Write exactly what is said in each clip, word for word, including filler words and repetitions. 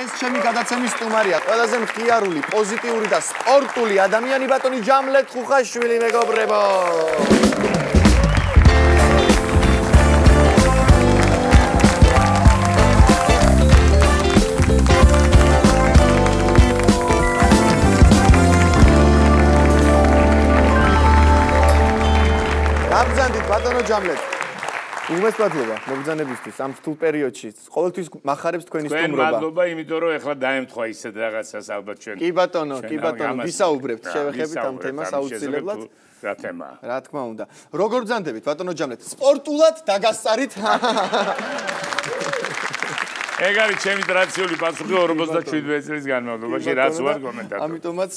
ეს ჩემი გადაცემის სტუმარია, ყველაზე მხიარული, პოზიტიური და სპორტული ადამიანი ბატონი ჯამლეთ ხუხაშვილი, მეგობრებო. გაბრძანდით ბატონო ჯამლეთ. უმესვათლობა მოგზანებისთვის ამ რთულ პერიოდში. ყოველთვის მახარებს თქვენი სტუმრობა. თქვენ მადლობა, იმიტომ რომ ეხლა დაემთხვა ისეთ რაღაცას ალბათ ჩვენ. კი ბატონო, კი ბატონო, ვისაუბრებთ, შევეხებით ამ თემას აუცილებლად. რა თემაა? რა თქმა უნდა. როგორ ბრძანდებით ბატონო ჯამლეთ? სპორტულად დაგასწარით. ეგ არის ჩემი ტრადიციული პასუხი ორმოცდაშვიდმეტი წლის განმავლობაში, რაც ვარ კომენტატორი. ამიტომაც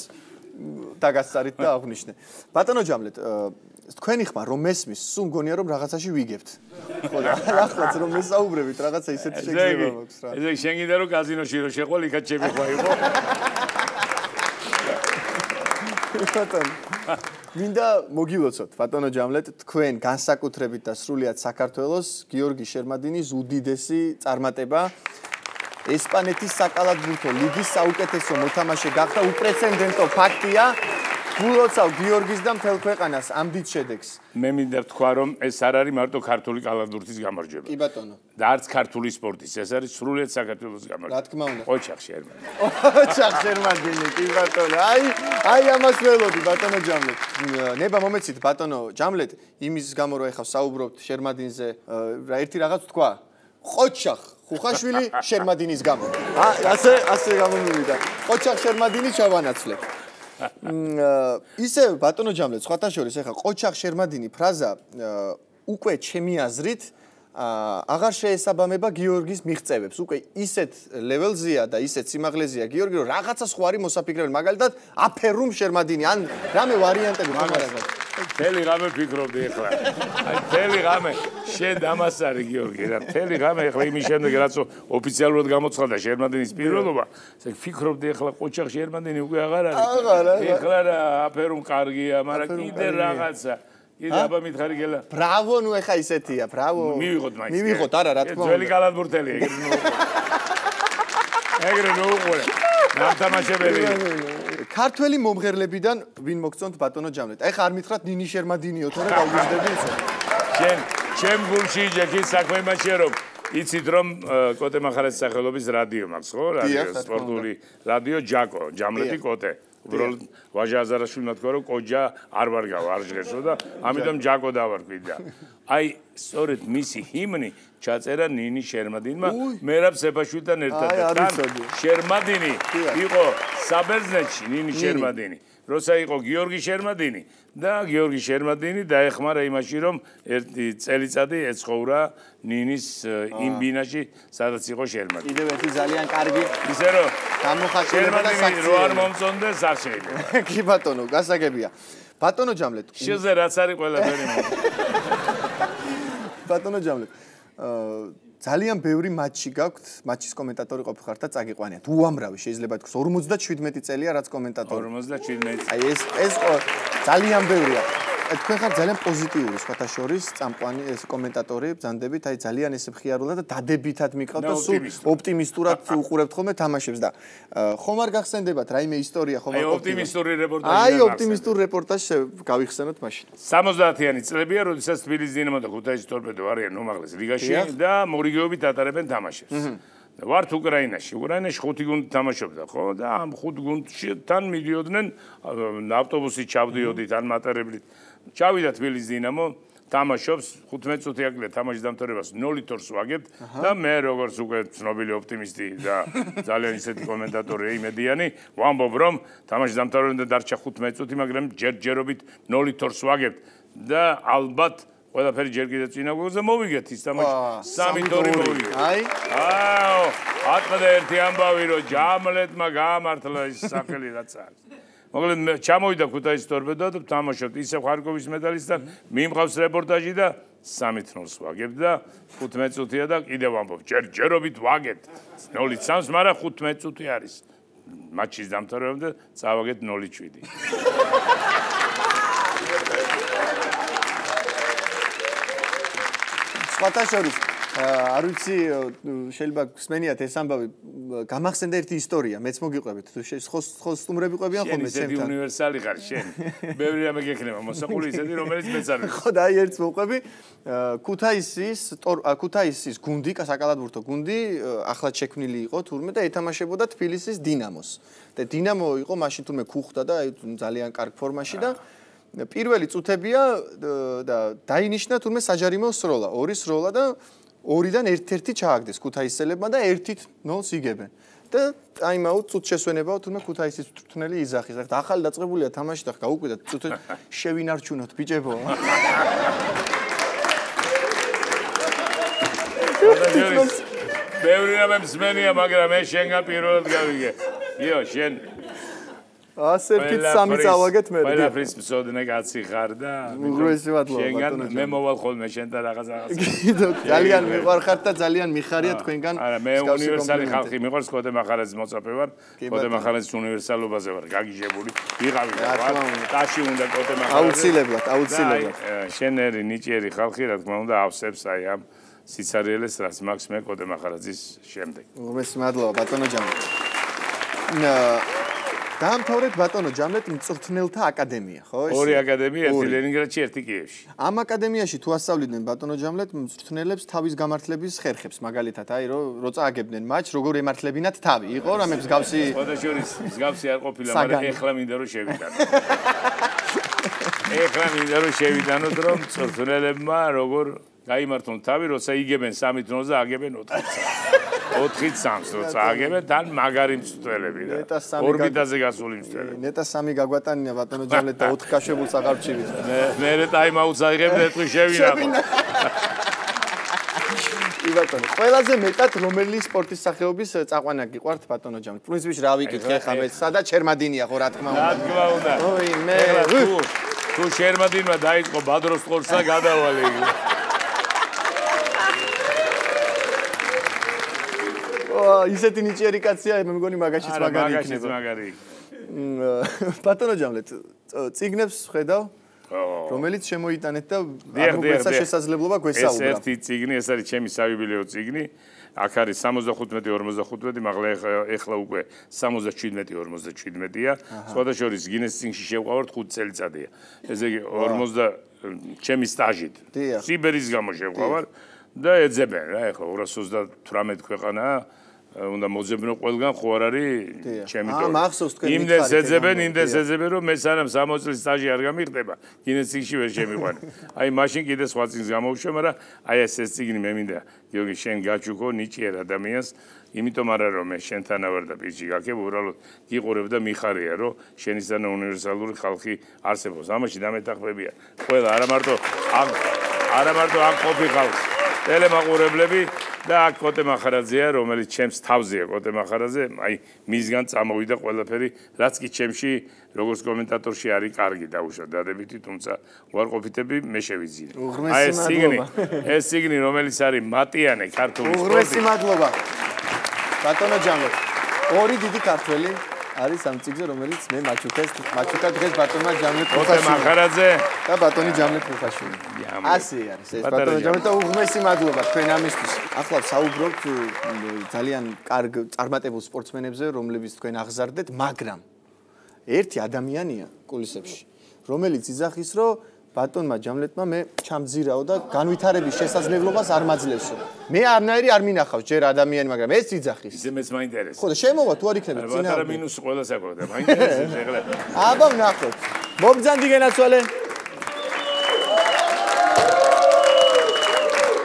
დაგასწარით და აღვნიშნე. ბატონო ჯამლეთ, თქვენი ხმა რომ მესმის, სულ მგონია რომ რაღაცაში ვიგებთ. ხო და ახლაც რომ მესაუბრებით, რაღაცა ისეთი შეგრძნება მაქვს რა. ესე იგი, შენ გინდა რომ კაზინოში რო შეყოლ, იქაც ჩემი ხმა იყო. ბატონო, მინდა მოგილოცოთ, ბატონო ჯამლეთ, თქვენ განსაკუთრებით და სრულიად საქართველოს გიორგი შერმადინის უდიდესი წარმატება. ესპანეთის საკალათბურთო ლიგის საუკეთესო მოთამაშე გახდა, უპრეცედენტო ფაქტია. გულოცავ გიორგის და მთელ ქვეყანას ამ დიდ შედეგს. მე მინდა ვთქვა, რომ ეს არ არის მარტო ქართული კალათბურთის გამარჯვება. კი ბატონო. და არც ქართული სპორტის, ეს არის სრულიად საქართველოს გამარჯვება. რა თქმა უნდა. ოჩახ შერმადინი. ოჩახ შერმადინი, კი ბატონო. აი, აი ამას ველოდი ბატონო ჯამლეთ. ნება მომეცით ბატონო ჯამლეთ, იმის გამო რომ ეხლა საუბრობთ შერმადინზე, რა ერთი რაღაც თქვა. ოჩახ ხუხაშვილი შერმადინის გამო. ასე ასე გამომივიდა. ოჩახ შერმადინი ჩავანაცვლებ. ისე ბატონო ჯამლეთ, სხვათა შორის ეხლა ყოჩახ შერმადინი ფრაზა უკვე ჩემი აზრით აღარ შეესაბამება გიორგის მიღწევებს. უკვე ისეთ ლეველზეა და ისეთ სიმაღლეზეა გიორგი, რომ რაღაცა სხვა არის მოსაფიქრებელი. მაგალითად, აფერუმ შერმადინი, ან რამე ვარიანტები მაგალითად. თელი ღამე ფიქრობდი ეხლა. აი თელი ღამე შენ ამას არის გიორგი რა. თელი ღამე ეხლა იმის შემდეგ რაც ოფიციალურად გამოცხადდა შერმადინის პირველობა, ესე ფიქრობდი ეხლა ყოჩახ შერმადინი უკვე აღარ არის. აღარ არის. ეხლა რა აფერუმ კარგია, მაგრამ კიდე რაღაცა. კიდე აბა მითხარი გელა. ბრავო, ნუ ეხა ისეთია, ბრავო. მივიღოთ მაინც. მივიღოთ, არა, რა თქმა უნდა. ძველი კალათბურთელი ეგრე ნუ. ეგრე ნუ უყურე. ნამთამაშებელი. ქართველი მომღერლებიდან ვინ მოგწონთ ბატონო ჯამლეთ? აი ხარ მითხრათ ნინი შერმადინიო, თორე გავუძდები ისე. შენ ჩემ გულში იჯექი საქმე იმაშია რომ იცით რომ კოტე მახარაძის სახელობის რადიო მაქვს, ხო? რადიო სპორტული რადიო ჯაკო, ჯამლეთი კოტე. უბრალოდ ვაჟა აზარაშვილმა თქვა რომ კოჯა არ ვარ გავა, არ ჟღერსო და ამიტომ ჯაკო დავარქვი და აი სწორედ მისი ჰიმნი ჩაწერა ნინი შერმადინმა მერაბ სეფაშვილთან ერთად და შერმადინი იყო საბერძნეთში ნინი შერმადინი. როცა იყო გიორგი შერმადინი და გიორგი შერმადინი დაეხმარა იმაში რომ ერთი წელიწადი ეცხოვრა ნინის იმ ბინაში სადაც იყო შერმადინი. კიდევ ერთი ძალიან კარგი ისე რომ გამოხატულება და შერმადინი რო არ მომწონდეს არ შეიძლება. კი ბატონო, გასაგებია. ბატონო ჯამლეთ. შენზე რაც არის ყველაფერი მო. ბატონო ჯამლეთ. ძალიან ბევრი მატჩი გაქვთ, მატჩის კომენტატორი ყოფილიყართ და წაგიყვანიათ. უამრავი შეიძლება თქვას ორმოცდაშვიდმეტი წელია რაც კომენტატორი. ორმოცდაშვიდმეტი. აი ეს ეს ძალიან ბევრია. თქვენ ხართ ძალიან პოზიტიური სხვათა შორის წამყვანი ეს კომენტატორი ბრძანდებით, აი ძალიან ესე მხიარულად და დადებითად მიყავთ და სულ ოპტიმისტურად უყურებთ ხოლმე თამაშებს და ხომ არ გახსენდებათ რაიმე ისტორია ხომ აი ოპტიმისტური რეპორტაჟი. აი ოპტიმისტური რეპორტაჟი გავიხსენოთ მაშინ. სამოცდაათიანი წლებია, როდესაც თბილისის დინამო და ქუთაისის ტორპედო არიან უმაღლეს ლიგაში და მორიგეობით ატარებენ თამაშებს. ვართ უკრაინაში. უკრაინაში ხუთი გუნდი თამაშობდა, ხო? და ამ ხუთ გუნდში თან მიდიოდნენ ავტობუსით ჩავდიოდით ან მატარებლით. ჩავიდა თბილისის დინამო, თამაშობს, ხუთმეტი წუთი აკლია თამაშის დამთავრებას ნოლით ორს ვაგებთ და მე როგორც უკვე ცნობილი ოპტიმისტი და ძალიან ისეთი კომენტატორი იმედიანი, ვამბობ რომ თამაშის დამთავრებამდე დარჩა ხუთმეტი წუთი, მაგრამ ჯერჯერობით ნოლით ორს ვაგებთ და ალბათ ყველაფერი ჯერ კიდევ წინა გვერდზე მოვიგეთ ის თამაში სამი ორი მოვიგეთ. აი. აო, ათმეტ ერთი ამბავი რომ ჯამლეთმა გაამართლა ის სახელი რაც არის. მოკლედ ჩამოვიდა ქუთაისის ტორპედო და თამაშობთ ისევ ხარკოვის მეტალისტთან, მიმყავს რეპორტაჟი და სამი ნულს ვაგებთ და ხუთმეტი წუთია და კიდევ ვამბობ, ჯერჯერობით ვაგებთ. ნოლით სამს, მაგრამ ხუთმეტი წუთი არის. მატჩის დამთავრებამდე წავაგეთ ნოლით შვიდი. სხვათა შორის არ ვიცი შეიძლება გსმენიათ ეს ამბავი გამახსენდა ერთი ისტორია მეც მოგიყვებით თუ ხო სტუმრები ყვებიან ხოლმე ჩემთან შენ უნივერსალი ხარ შენ ბევრი რამე გექნება მოსაყული ისეთი რომელიც მეც არ ვიცი ხო და აი ერთს მოყვები ქუთაისის ქუთაისის გუნდი საკალათბურთო გუნდი ახლად შექმნილი იყო თურმე და ეთამაშებოდა თბილისის დინამოს და დინამო იყო მაშინ თურმე ქუხდა და ძალიან კარგ ფორმაში და პირველი წუთებია და დაინიშნა თურმე საჯარიმო სროლა ორი სროლა და ორიდან ერთ-ერთი ჩააგდეს ქუთაისელებმა და ერთით ნოლს იგებენ. და ტაიმაუტ წუთ შესვენებაო თუნდაც ქუთაისის თრთნელი იზახის. ახლა ახალი დაწყებულია თამაში და გაუკვირდა წუთ შევინარჩუნოთ ბიჭებო. ბევრი რამე მსმენია, მაგრამ მე შენგან პირველად გავიგე. იო, შენ ასე ფიც სამი წავაგეთ მე. ყველაფრის მსოდნე კაცი ხარ და უღრესი მადლობა ბატონო. შენგან მე მოვალ ხოლმე შენთან რაღაც რაღაც. ძალიან მიყვარხართ და ძალიან მიხარია თქვენგან. არა, მე უნივერსალი ხალხი მიყვარს, კოდე მახარაძის მოწაფე ვარ. კოდე მახარაძის უნივერსალობაზე ვარ გაგიჟებული. ვიღავი და ვარ. ტაში უნდა კოდე მახარაძე. აუცილებლად, აუცილებლად. შენერი ნიჭიერი ხალხი რა თქმა უნდა ავსებს აი ამ სიცარიელეს რაც მაქვს მე კოდე მახარაძის შემდეგ. უღრესი მადლობა ბატონო ჯამლეტ. დაამთავრეთ ბატონო ჯამლეტ მწვრთნელთა აკადემია, ხო? ორი აკადემია, ერთი ლენინგრადში, ერთი კიევში. ამ აკადემიაში თუ ასწავლიდნენ ბატონო ჯამლეტ მწვრთნელებს თავის გამართლების ხერხებს, მაგალითად, აი რო წააგებდნენ მატჩს, როგორ ემართლებინათ თავი. იყო რამე მსგავსი? სხვადასხვა მსგავსი არ ყოფილა, მაგრამ ეხლა მინდა რომ შევიტანო. ეხლა მინდა რომ შევიტანოთ, რომ მწვრთნელებმა როგორ გაიმართონ თავი, როცა იგებენ სამით ნოლს და აგებენ ოთხით. ოთხით სამს როცა აგებენ, თან მაგარი მწვრთნელები და ორბიტაზე გასული მწვრთნელები. ნეტა სამი გაგვატანია ბატონო ჯამლეტ და ოთხ კაშებულს აღარ ვჩივით. მე მე ტაიმაუტს აიღებ და ეთქვი შევინახო. ბატონო, ყველაზე მეტად რომელი სპორტის სახეობის წაყვანა გიყვართ ბატონო ჯამლეტ? პრინციპში რა ვიკითხე ხა მე სადაც შერმადინია ხო რა თქმა უნდა. რა თქმა უნდა. ოი მე თუ შერმადინმა დაიწყო ბადროს ყორსა გადავალე. ისეთი ნიჭიერი კაცია, მე მგონი მაგაშიც მაგარი იქნება. მაგარი. ბატონო ჯამლეტ, წიგნებს ხედავ, რომელიც შემოიტანეთ და არ მოგეცა შესაძლებლობა გვესაუბრა. ეს ერთი წიგნი, ეს არის ჩემი საიუბილეო წიგნი. აქ არის სამოცდახუთმეტი ორმოცდახუთმეტი, მაგრამ ეხლა უკვე სამოცდაჩვიდმეტი ორმოცდაჩვიდმეტია. სხვადასხვა გინეს წიგნში შევყავართ ხუთ წელიწადია. ესე იგი ორმოცდა ჩემი სტაჟით. სიბერის გამო შევყავარ და ეძებენ რა, ეხლა ორას ოცდათვრამეტი ქვეყანაა. უნდა მოძებნო ყველგან ხო არ არის ჩემი თორე. აა მახსოვს თქვენ იმდეს ეძებენ, იმდეს ეძებენ, რომ მე სანამ სამოცი წლის სტაჟი არ გამიღდება, გინესიკში ვერ შემიყვანე. აი მაშინ კიდე სხვა წიგნს გამოვშვე, მაგრამ აი ეს ეს წიგნი მე მინდა გიორგი შენ გაჩუქო ნიჭიერ ადამიანს, იმიტომ არა რომ მე შენთან ვარ და პირში გაქებ, უბრალოდ გიყურებ და მიხარია, რომ შენისთანა უნივერსალური ხალხი არსებობს. ამაში დამეთახმებია. ყველა არა მარტო ამ არა მარტო ამ ყოფი ხალხი, ტელემაყურებლები და აქ კოტე მახარაძეა, რომელიც ჩემს თავზეა კოტე მახარაძე, აი მისგან წამოვიდა ყველაფერი, რაც კი ჩემში როგორც კომენტატორში არის კარგი დაუშვათ დადებითი, თუმცა უარყოფითები მე შევიძინე. აი ეს სიგნი, ეს სიგნი რომელიც არის მატიანე ქართული სპორტი. უღრესი მადლობა. ბატონო ჯამლეტ, ორი დიდი ქართველი არის ამ წიგნზე, რომელიც მე მაჩუქეს, მაჩუკა დღეს ბატონმა ჯამლეტ კოტე მახარაძე და ბატონი ჯამლეტ მუხაშვილი. ასე არის ეს ბატონო ჯამლეტ და უღრესი მადლობა თქვენ ამისთვის. ახლა საუბრობთ ძალიან კარგ წარმატებულ სპორტსმენებზე, რომლებიც თქვენ აღზარდეთ, მაგრამ ერთი ადამიანია კულისებში, რომელიც იძახის, რომ ბატონმა ჯამლეტმა მე ჩამძირაო და განვითარების შესაძლებლობას არ მაძლევსო. მე არნაირი არ მინახავს ჯერ ადამიანი, მაგრამ ეს იძახის. ისე მეც მაინტერესებს. ხო და შემოვა თუ არ იქნებით წინა. ბატარა მინუსი ყველა საკუთარ, მაინტერესებს ეხლა. აბა ვნახოთ. მოგძანდი გენაცვალე.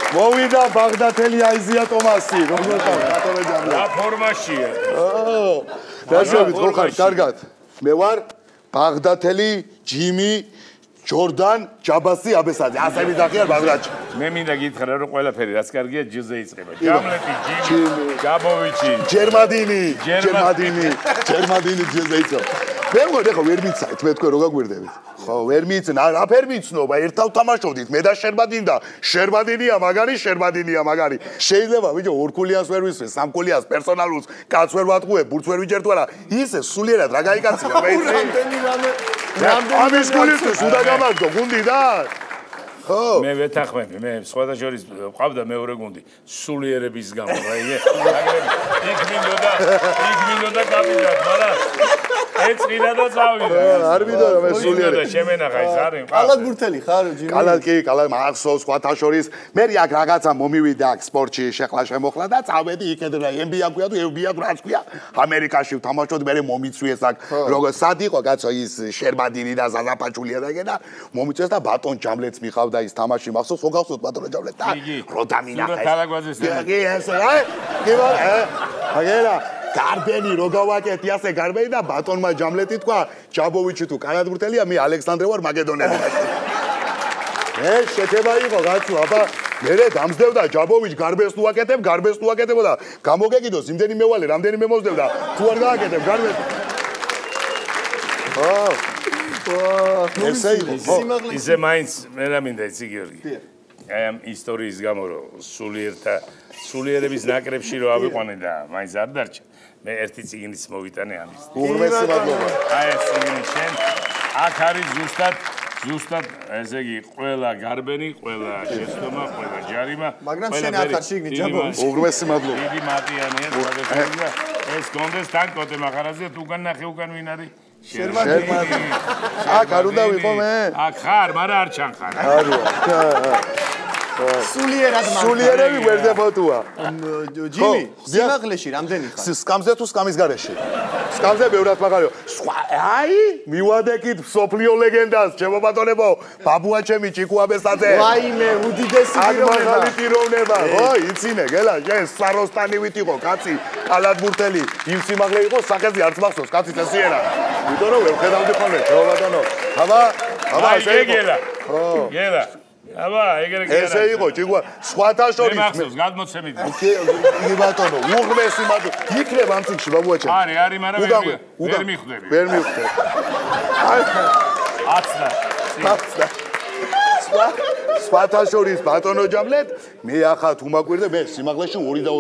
მოვიდა ბაღდათელი აიზია ტომასი, როგორ ხარ ბატონო ჯამლეტ? რა ფორმაშია? ო, დაშვებით ხო ხარ, კარგად. მე ვარ ბაღდათელი ჯიმი ჯორდან ჯაბასი აბესაძე. ასე მიდახია ბაგრატში. მე მინდა გითხრა რომ ყველაფერი რაც კარგია ჯილზე იწყება. ჯამლეტი, ჯიმი, ჯაბოვიჩი, ჯერმადინი, ჯერმადინი, ჯერმადინი ჯილზე იწყება. მე მგონი ხო ვერ მიცაით მე თქვენ რო გაგვირდებით. ხო, ვერ მიცნა, რაფერ მიცნობა, ერთად თამაშობდით, მე და შერბადინდა, შერბადინია მაგარი, შერბადინია მაგარი. შეიძლება ბიჭო ორქულიას ვერ ვისვენ, სამქულიას პერსონალურს, კაც ვერ ვატყუებ, ბურთს ვერ ვიჯერთ, არა, ისე სულიერად რა გაიკაცია, მე იცი. რამდენი რამე, რამდენი ამის გულისთვის უნდა გამაგდო გუნდიდან. მე ვეთახმები, მე სხვადასხვა ყავდა მეორე გუნდი, სულიერების გამო, რა იგე. იქ მინდოდა, იქ მინდოდა კაპიტანი, მაგრამ ეწყინა და წავიდა. არ მინდოდა მე სულიერი. შემენახა ის არის. კალათბურთელი ხარ, ჯიმი? კალათ კი, კალათ მახსოვს, სხვათა შორის. მე აქ რაღაცა მომივიდა აქ სპორტში, შეხლა შემოხლა და წავედი იქედან ენ ბი ეი ქვია თუ ეფ ბი ეი რაც ქვია. ამერიკაში ვთამაშობდი, მე მომიწვიეს აქ. როგორ სად იყო კაცო ის შერბადინი და ზაზაფაჩულია და ეგენა მომიწვიეს და ბატონ ჯამლეთს მიხავდა ის თამაში მახსოვს, ხო გახსოვთ ბატონო ჯამლეთ და რო დამინახა. კი, ესე, აი, კი ბატონო, აგერა გარბენი რო გავაკეთი ასე გარბენი და ბატონმა ჯამლეთი თქვა ჯაბოვიჩი თუ კალათბურთელია მე ალექსანდრე ვარ მაკედონელია მე შეთება იყო გაცო აბა მე დამსდევდა ჯაბოვიჩ გარბეს თუ აკეთებ გარბეს თუ აკეთებოდა გამოგეკიდოს იმდენი მევალე რამდენი მემოსდევდა თუ არ გააკეთებ გარბეს აა ესე იყო ისე მაინც მე რა მინდა იცი გიორგი აი ამ ისტორიის გამო რომ სულიერთა სულიერების ნაკრებში რო ავიყვანე და მაინც არ დარჩა მე ერთი წიგნიც მოვიტანე ამის. უღრმესი მადლობა. აი ეს წიგნი შენ აქ არის ზუსტად ზუსტად ესე იგი ყველა გარბენი, ყველა შეცდომა, ყველა ჯარიმა, მაგრამ შენ აქ არ შეგნი ჯაბოვის. უღრმესი მადლობა. დიდი მატიანია, გადაგებია. ეს კონდეს თან კოტე მახარაზე თუ უკან ნახე უკან ვინ არის? შერმადი. აქ არ უნდა ვიყო მე? აქ ხარ, მაგრამ არ ჩანხარ. არია. სულიერად მაგ სულიერები ვერდებოდუა. ჯიმი, სიმაღლეში რამდენი ხარ? სკამზე თუ სკამის გარეშე? სკამზე ბევრად მაგარია. აი, მივადეკით სოფლიო ლეგენდას, ჩემო ბატონებო, ბაბუა ჩემი ჭიკუაბესაძე. ვაიმე, უდიდესი პიროვნება. აგმაღალი პიროვნება. ხო, იცინე, გელა, შენ საროსტანივით იყო კაცი, კალათბურთელი, იმ სიმაღლე იყო, სახეზე არც მახსოვს, კაცი წესიერა. იმიტომ რომ ვერ ხედავდი ხოლმე, ჩემო ბატონო. აბა, აბა, ესე გელა. ხო. გელა. აბა, ეგრე კი არა. ესე იყო, ჭიგვა, სხვათა შორის. მე მახსოვს, გადმოცემით. იგი ბატონო, უღმესი მადლობა. იქნებ ამ წიგნში, ბაბუაჩემ. არის, არის, მაგრამ ვერ მიხვდები. ვერ მიხვდები. აცდა. აცდა. სხვათა შორის ბატონო ჯამლეთ, მე ახლა თუ მაკვირდე, მე სიმაღლეში ორი და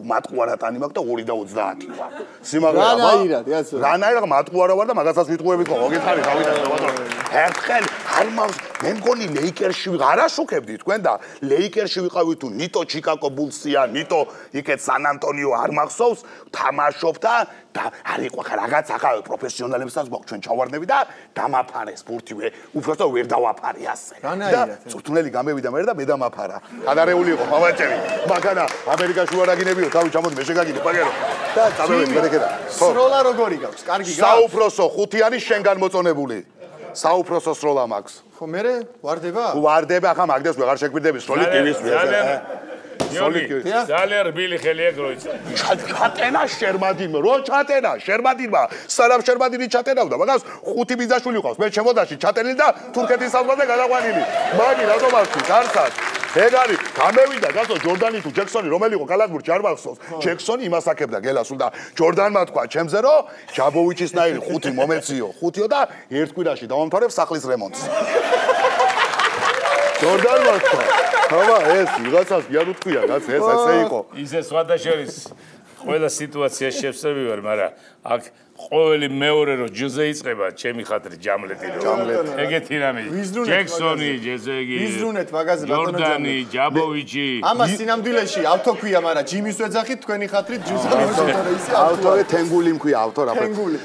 მატყუარატანი მაქვს და ორი და ოცდაათი ვარ. სიმაღლე აბა. რანაირად, კაცო. რანაირად მატყუარა ვარ და მაგასაც ვიტყუებით ხო, მოგითხარი, დავიდე ბატონო. ერთხელ არ მავს მე მგონი ლეიკერსში ვიყავ, არა შუქებდი თქვენ და ლეიკერსში ვიყავი თუ ნიტო ჩიკაგო ბულსია, ნიტო იქეთ სან ანტონიო არ მახსოვს, თამაშობდა და არ იყო რაღაც ახლა პროფესიონალებსაც გვაქვს ჩვენ ჩავარდნები და დამაფარეს ბურთი უბრალოდ ვერ დავაფარე ასე. და წვრთნელი გამევიდა მე და მე დამაფარა. გადარეული იყო მამაჭერი. მაგანა ამერიკაში ვარაგინებიო, თავი ჩამოდი მე შეგაგინე პაგერო. და წავედი მერეკედა. სროლა როგორი გაქვს? კარგი გაქვს? საუფროსო ხუთი არის შენგან მოწონებული. საუფროსო სროლა მაქვს. ხო მე ვარდება? ვარდება ახლა მაგდეს ვეღარ შეგვირდები სროლი კივის ძალიან ძალიან რბილი ხელი აქვს რო იცი. ჩატენა შერმადინმა, რო ჩატენა შერმადინმა, სანამ შერმადინი ჩატენავდა, მაგას ხუთი ბიძაშვილი ყავს. მე ჩემოდაში ჩატენილი და თურქეთის საზღვარზე გადაყვანილი. მაგი რატომ არქვის არსად? ეგ არის, გამევიდა გასო ჯორდანი თუ ჯექსონი რომელი იყო კალათბურთში არ მახსოვს. ჯექსონი იმას აკებდა გელასულ და ჯორდანმა თქვა ჩემზე რომ ჯაბოვიჩისნაირი ხუთი მომეციო, ხუთიო და ერთ კვირაში დავამთავრებ სახლის რემონტს. ჯორდანმა თქვა აბა ეს ვიღაცას არ უთქვია, რაც ეს ასე იყო. ისე სხვადასხვის ყველა სიტუაცია შევსები ვარ, მაგრამ აქ ყოველი მეორე რო ჯუზე იწება, ჩემი ხათრი ჯამლეთი რო. ეგეთი რამე. ჯექსონი, ჯეზეგი. ვიზრუნეთ მაგაზე ბატონო ჯორდანი, ჯაბოვიჩი. ამას სინამდვილეში ავთო ქვია, მაგრამ ჯიმის ვეძახით თქვენი ხათრით ჯუზა მოსწორე ისე ავტორე თენგული მქვია, ავთო რა.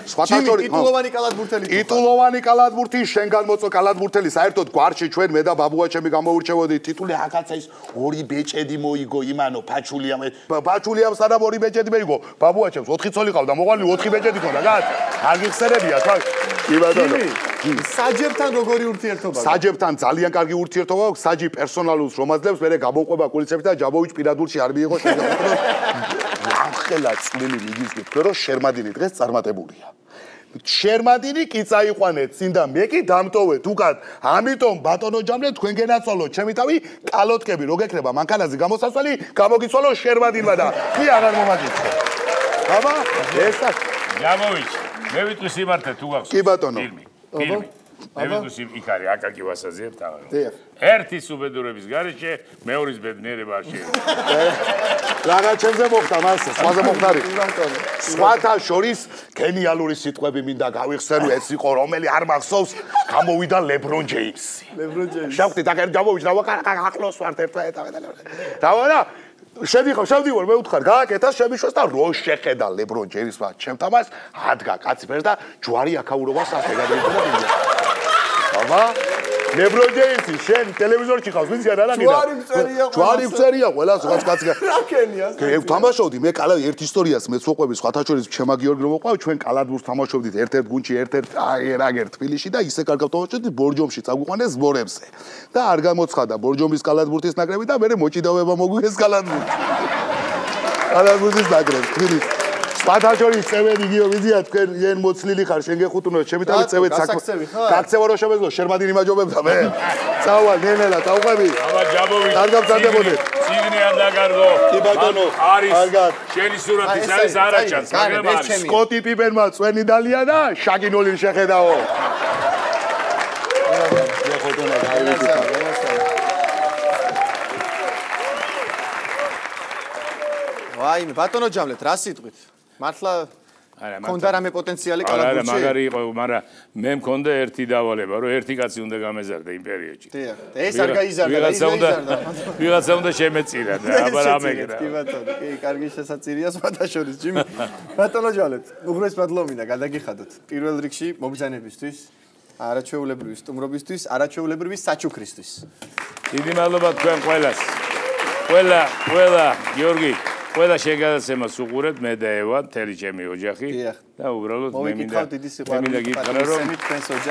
სხვათა შორის ტიტულოვანი კალათბურთელი. ტიტულოვანი კალათბურთი შენგან მოწო კალათბურთელი საერთოდ გვარში ჩვენ მე და ბაბუა ჩემი გამოურჩევოდი ტიტული აკაცა ის ორი ბეჭედი მოიგო იმანო ფაჩულიამ ფაჩულიამ სანამ ორი ბეჭედი მეიგო ბაბუა ჩემს ოთხი ცოლი ყავდა მოყვანილი ოთხი ბეჭედი ქონდა გაც არ გიხსენებია თქვა კი ბატონო საჯებთან როგორი ურთიერთობა საჯებთან ძალიან კარგი ურთიერთობა აქვს საჯი პერსონალურს რომ აძლევს მე გამოყვება კულიცებით და ჯაბოვიჩ პირადულში არ მიიღო შეგახსენო ახლა წვლილი მიგიზნით თქვენ რომ შერმადინი დღეს წარმატებულია შერმადინი კი წაიყვანეთ წინ და მე კი დამტოვეთ უკან ამიტომ ბატონო ჯამლე თქვენ გენაცვალოთ ჩემი თავი კალოთკები რო გეკრება მანქანაზე გამოსასვლელი გამოგიცვალო შერმადინმა და კი აღარ მომაგიცხო აბა ესა ჯაბოვიჩ მე ვიტყვი სიმართლე თუ გახსოვს კი ბატონო ფილმი ფილმი მე ვიდუსი იქ არის აკაკი ვასაძე თავი. დიახ. ერთის უბედურების გარეშე მეორის ბედნიერება არ შეიძლება. რა ჩემზე მოხდა მასე, სხვაზე მოხდარი. სხვათა შორის გენიალური სიტყვები მინდა გავიხსენო, ეს იყო რომელი არ მახსოვს, გამოვიდა LeBron James-ი. LeBron James. შევხვდით აქ ერთ გამოვიჯდა, ახლოს ვართ ერთმანეთთან. დავა შევიხო, შევდივარ, მე ვთხარ, გააკეთა შემიშვას და რო შეხედა LeBron James-მა ჩემთან მას, ადგა კაცი ფერს და ჯვარი აქაურობას ასე გადაიჭრა. აბა LeBron James-ი შენ ტელევიზორში ხავს, ვიცი რა რა გინდა? ჯვარი მწერია ყველა. ჯვარი მწერია ყველა, სხვაც კაცი. რა ქენია? მე ვთამაშობდი, მე კალა ერთ ისტორიას მეც ვყვები, სხვათა შორის ჩემა გიორგი რომ ვყვავ, ჩვენ კალათბურთს თამაშობდით ერთ-ერთ გუნდში, ერთ-ერთ აგერ თბილისში და ისე კარგად თამაშობდით ბორჯომში წაგვიყვანეს ზბორებზე. და არ გამოცხადა ბორჯომის კალათბურთის ნაკრები და მე მოჭიდავება მოგვიეს კალათბურთში. კალათბურთის ნაკრები თბილისში. სხვათა შორის წევრი გიო ვიზია თქვენ ენ მოცლილი ხარ შენ გეხუთუნო ჩემი თავი წევეთ საქმე. გაქცევა რო შემეძლო შერმადინი მაჯობებდა მე. წავალ ნენელა წავყვები. აბა ჯაბოვი. კარგად წადებოდეთ. ციგნი არ დაგარგო. კი ბატონო. არის. კარგად. შენი სურათი არის არაჩანს, მაგრამ არის. სკოტი პიპერმა წვენი დალია და შაგინოლი შეხედაო. გეხუთუნო გაივიწყო. ვაი, ბატონო ჯამლეთ, რა სიტყვით? მართლა არა, მქონდა რამე პოტენციალი არა, კალათბურთში? მაგარი იყო, მაგრამ მე მქონდა ერთი დავალება, რომ ერთი კაცი უნდა გამეზარდა იმ პერიოდში. დიახ. ეს არ გაიზარდა, ის ვიღაცა უნდა გაიზარდა. ვიღაცა უნდა შემეწირა და აბა რა მეგრა. კი ბატონო, კი, კარგი შესაძირია სხვათა შორის, ჯიმი. ბატონო ჯამლეთ, უღრეს მადლობინა, გადაგიხადოთ. პირველ რიგში მობრძანებისთვის, არაჩვეულებრივი სტუმრობისთვის, არაჩვეულებრივი საჩუქრისთვის. დიდი მადლობა თქვენ ყველას. ყველა, ყველა, გიორგი ყველა შეგადაცემას უყურებთ მე და ევა, მთელი ჩემი ოჯახი და უბრალოდ მე მინდა მე მინდა გითხრა რომ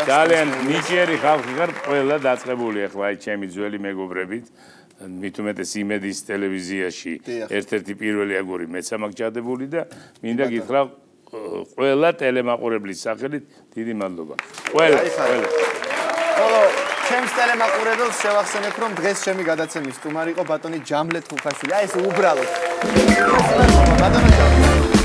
ძალიან ნიჭიერი ხალხი ხარ, ყველა დაწყებული ახლა აი ჩემი ძველი მეგობრებით, მით უმეტეს იმედის ტელევიზიაში ერთ-ერთი პირველი აგური მეც ამაკ ჩადებული და მინდა გითხრა ყველა ტელემაყურებლის სახელით დიდი მადლობა. ყველა, ყველა. ხოლო ჩემს ტელემაყურებელს შევახსენებ, რომ დღეს ჩემი გადაცემის სტუმარი იყო ბატონი ჯამლეთ ხუხაშვილი. აი ეს უბრალოდ. ბატონო ჯამლეთ